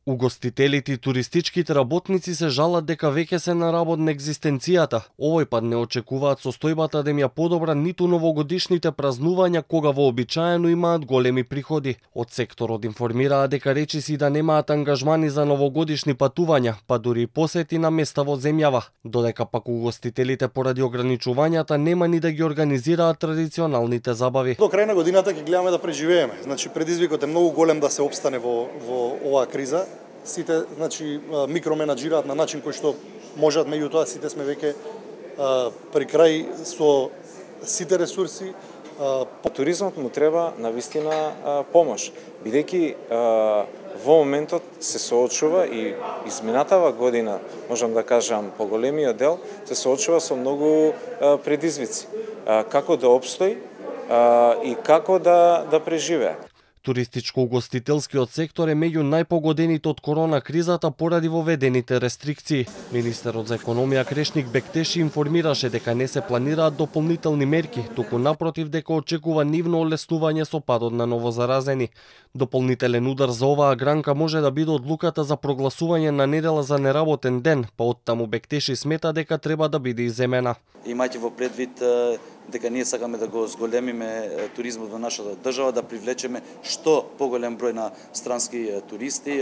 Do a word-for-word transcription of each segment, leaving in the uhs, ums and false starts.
Угостителите и туристичките работници се жалат дека веќе се на работ на екзистенцијата. Овој пат не очекуваат состојбата да им ја подобра ниту новогодишните празнувања кога вообичаено имаат големи приходи. Од секторот информираат дека речиси да немаат ангажмани за новогодишни патувања, па дури и посети на места во земјава, додека пак угостителите поради ограничувањата нема ни да ги организираат традиционалните забави. До крај на годината ќе гледаме да преживееме. Значи предизвикот е многу голем да се опстане во во оваа криза. Сите, значи, микроменаџираат на начин кој што можат, меѓутоа сите сме веќе при крај со сите ресурси. По туризмот му треба навистина помош, бидејќи во моментот се соочува и изминатава година, можам да кажам, по големиот дел, се соочува со многу предизвици. Како да обстои и како да, да преживее. Туристичко-угостителскиот сектор е меѓу најпогодените од корона кризата поради воведените рестрикции. Министерот за економија Крешник Бектеши информираше дека не се планираат дополнителни мерки, туку напротив дека очекува нивно олеснување со падот на новозаразени. Дополнителен удар за оваа гранка може да биде одлуката за прогласување на недела за неработен ден, па оттаму Бектеши смета дека треба да биде иземена. Имајќи во предвид дека ние сакаме да го зголемиме туризмот во нашата држава, да привлечеме што поголем број на странски туристи,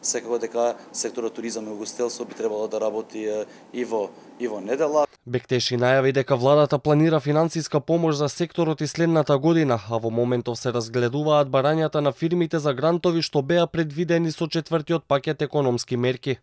секако дека секторот туризам и угостителство би требало да работи и во и во недела. Бектеши најави дека владата планира финансиска помош за секторот и следната година, а во моментов се разгледуваат барањата на фирмите за грантови што беа предвидени со четвртиот пакет економски мерки.